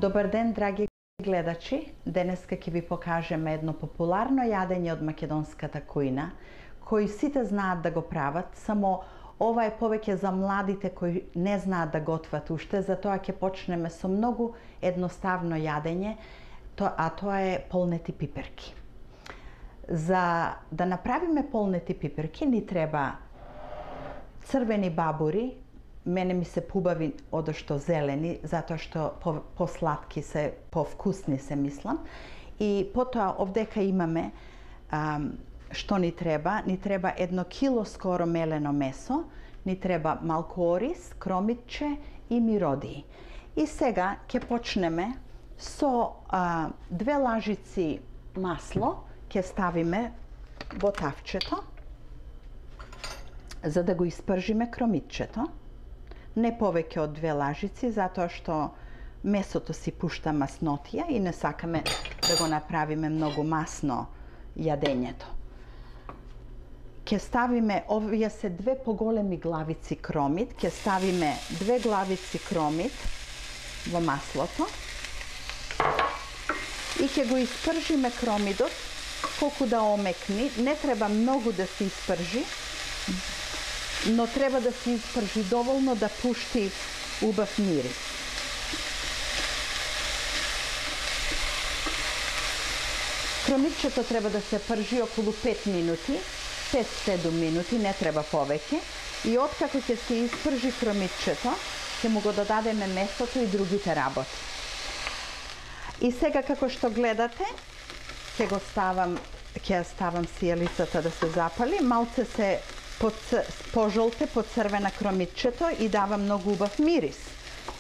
Добар ден, драги гледачи. Денеска ќе ви покажеме едно популарно јадење од македонската кујна, кој сите знаат да го прават, само ова е повеќе за младите кои не знаат да готват уште, затоа ќе почнеме со многу едноставно јадење, а тоа е полнети пиперки. За да направиме полнети пиперки ни треба црвени бабури. Мене ми се пубави одошто зелени, затоа што посладки се, повкусни се мислам. И потоа овдека имаме што ни треба. Ни треба 1 кило скоро мелено месо, ни треба малку ориз, кромитче и миродии. И сега ќе почнеме со 2 лажици масло, ќе ставиме во тавчето, за да го испржиме кромитчето. Не повеќе од 2 лажици, затоа што месото си пушта маснотија и не сакаме да го направиме многу масно јадењето. Ќе ставиме, овие се 2 поголеми главици кромит, ќе ставиме 2 главици кромит во маслото и ќе го испржиме кромидот колку да омекни. Не треба многу да се испржи, но треба да се испржи доволно да пушти убав мирис. Кромитчето треба да се пржи околу 5 минути, 5-7 минути, не треба повеќе. И откако ќе се испржи кромитчето, ќе му го додадеме месото и другите работи. И сега како што гледате, ќе ставам сијалицата да се запали, малце се пожолте, поцрвена кромитчето и дава многу убав мирис.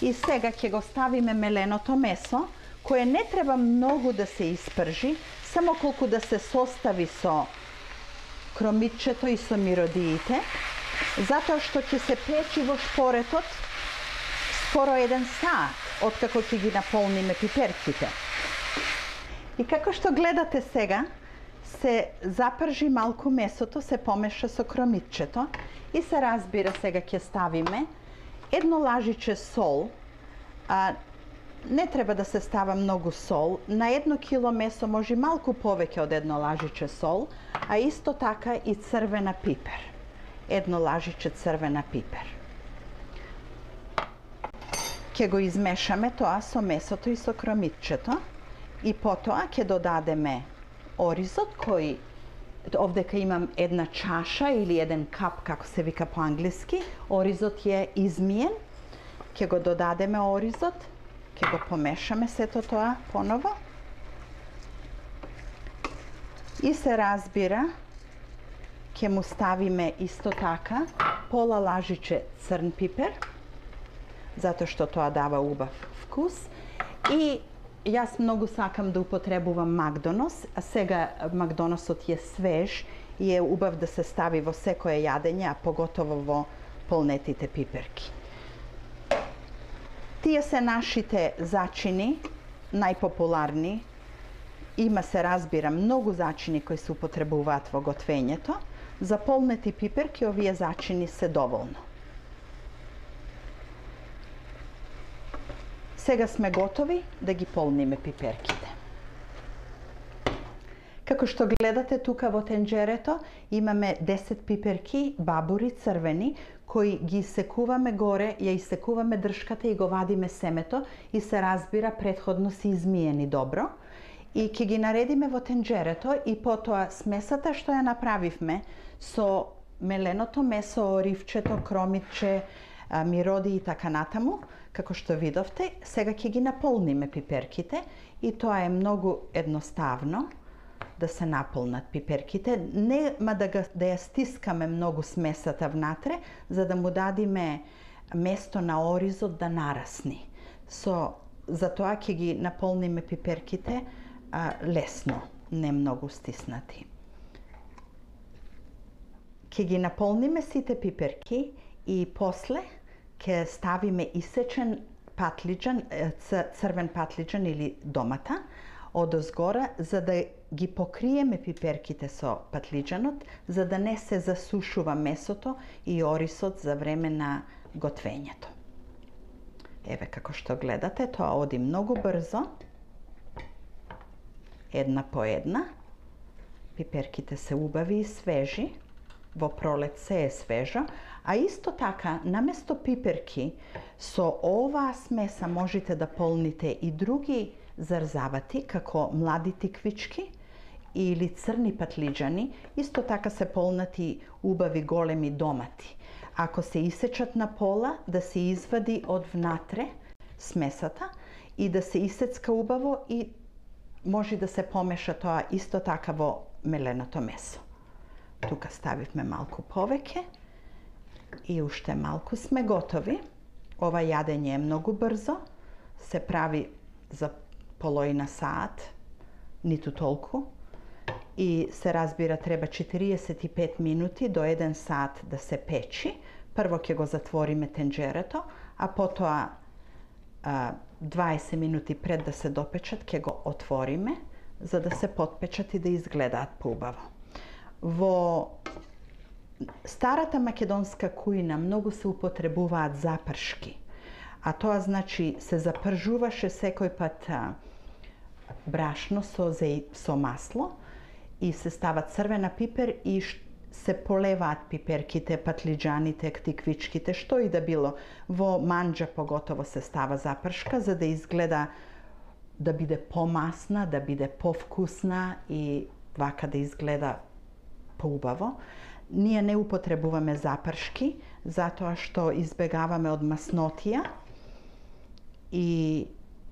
И сега ќе го ставиме меленото месо, кое не треба многу да се испржи, само колку да се состави со кромитчето и со миродиите, затоа што ќе се печи во шпоретот скоро 1 сат, откако ќе ги наполниме пиперките. И како што гледате сега, се запржи малку месото, се помеша со кромитчето и се разбира, сега ќе ставиме 1 лажиче сол. Не треба да се става многу сол. На 1 кило месо може малку повеќе од 1 лажиче сол, а исто така и црвена пипер. 1 лажиче црвена пипер. Ќе го измешаме тоа со месото и со кромитчето и потоа ќе додадеме оризот, кој овдека имам 1 чаша или 1 кап, како се вика по англиски. Оризот е измиен. Ќе го додадеме оризот, ќе го помешаме сето тоа поново. И се разбира, ќе му ставиме исто така пола лажиче црн пипер, затоа што тоа дава убав вкус. И јас многу сакам да употребувам Макдонос, а сега Макдоносот е свеж и е убав да се стави во секое јадење, а поготово во полнетите пиперки. Тие се нашите зачини, најпопуларни. Има, се разбира, многу зачини кои се употребуваат во готвењето. За полнети пиперки овие зачини се доволно. Сега сме готови да ги полниме пиперките. Како што гледате тука во тенџерето, имаме 10 пиперки, бабури црвени, кои ги секуваме горе, ја исекуваме дршката и го вадиме семето и се разбира претходно се измиени добро. И ќе ги наредиме во тенџерето и потоа смесата што ја направивме со меленото месо, оривчето, кромитче, мироди и така натаму, како што видовте, сега ќе ги наполниме пиперките и тоа е многу едноставно да се наполнат пиперките. Нема да ја стискаме многу смесата внатре, за да му дадиме место на оризот да нарасни. Затоа ќе ги наполниме пиперките лесно, не многу стиснати. Ќе ги наполниме сите пиперки и после ќе ставиме исечен патлиџан, црвен патлиџан или домата одозгора, за да ги покриеме пиперките со патлиџанот, за да не се засушува месото и орисот за време на готвењето. Еве како што гледате, тоа оди многу брзо. Една по една. Пиперките се убави и свежи. Во пролет се е свежо. А исто така, наместо пиперки, со оваа смеса можете да полните и други зарзавати, како млади тиквички или црни патлиџани. Исто така се полнати убави големи домати. Ако се исечат на пола, да се извади од внатре смесата и да се исецка убаво и може да се помеша тоа исто така во меленото месо. Тука ставивме малку повеќе и уште малку сме готови. Ова јадење е многу брзо, се прави за половина саат, ниту толку. И се разбира треба 45 минути до 1 саат да се печи. Прво ќе го затвориме тенџерето, а потоа 20 минути пред да се допечат ќе го отвориме, за да се потпечат и да изгледаат поубаво. Во старата македонска кујна многу се употребуваат запршки, а тоа значи се запржуваше секој пат брашно со масло и се става црвена пипер и се полеваат пиперките, патлиџаните, тиквичките, што и да било. Во манџа поготово се става запршка за да изгледа, да биде помасна, да биде повкусна и вака да изгледа поубаво. Ние не употребуваме запршки, затоа што избегаваме од маснотија и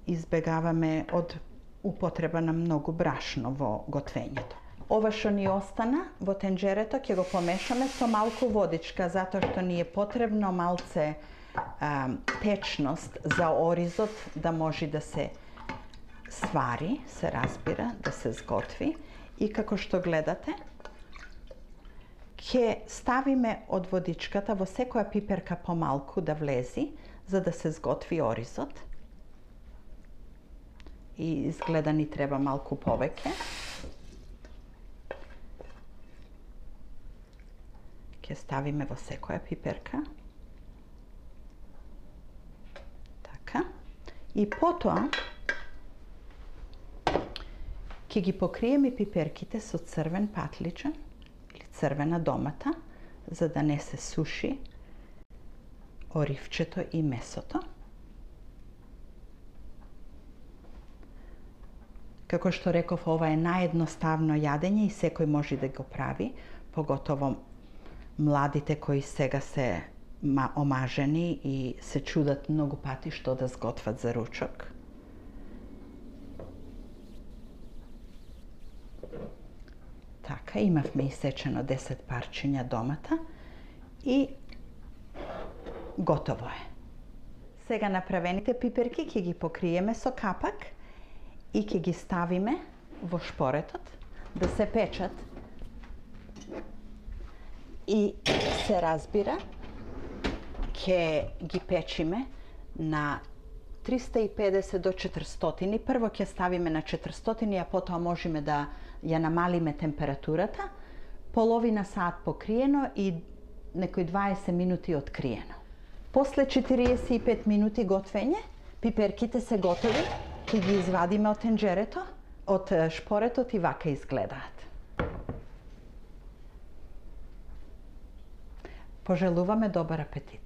избегаваме од употреба на многу брашно во готвењето. Ова што ни остана во тенџерето ќе го помешаме со малку водичка, затоа што ни е потребно малце течност за оризот да може да се свари, се разбира, да се сготви. И како што гледате, ќе ставиме од водичката во секоја пиперка помалку да влези, за да се сготви оризот. И изгледа ни треба малку повеќе. Ќе ставиме во секоја пиперка. Така. И потоа ќе ги покриеме пиперките со црвен патлиџан или црвена домата, за да не се суши оривчето и месото. Како што реков, ова е наједноставно јадење и секој може да го прави, поготово младите кои сега се омажени и се чудат многу пати што да сготват за ручок. Така, имавме исечено 10 парчиња домата и готово е. Сега направените пиперки ќе ги покриеме со капак и ќе ги ставиме во шпоретот да се печат. И се разбира, ќе ги печиме на 350 до 400. Прво ќе ставиме на 400, а потоа можеме да ја намалиме температурата. Половина саат покриено и некои 20 минути откриено. После 45 минути готвење, пиперките се готови. Ќе ги извадиме од тенџерето, од шпоретот и вака изгледаат. Пожелуваме добар апетит!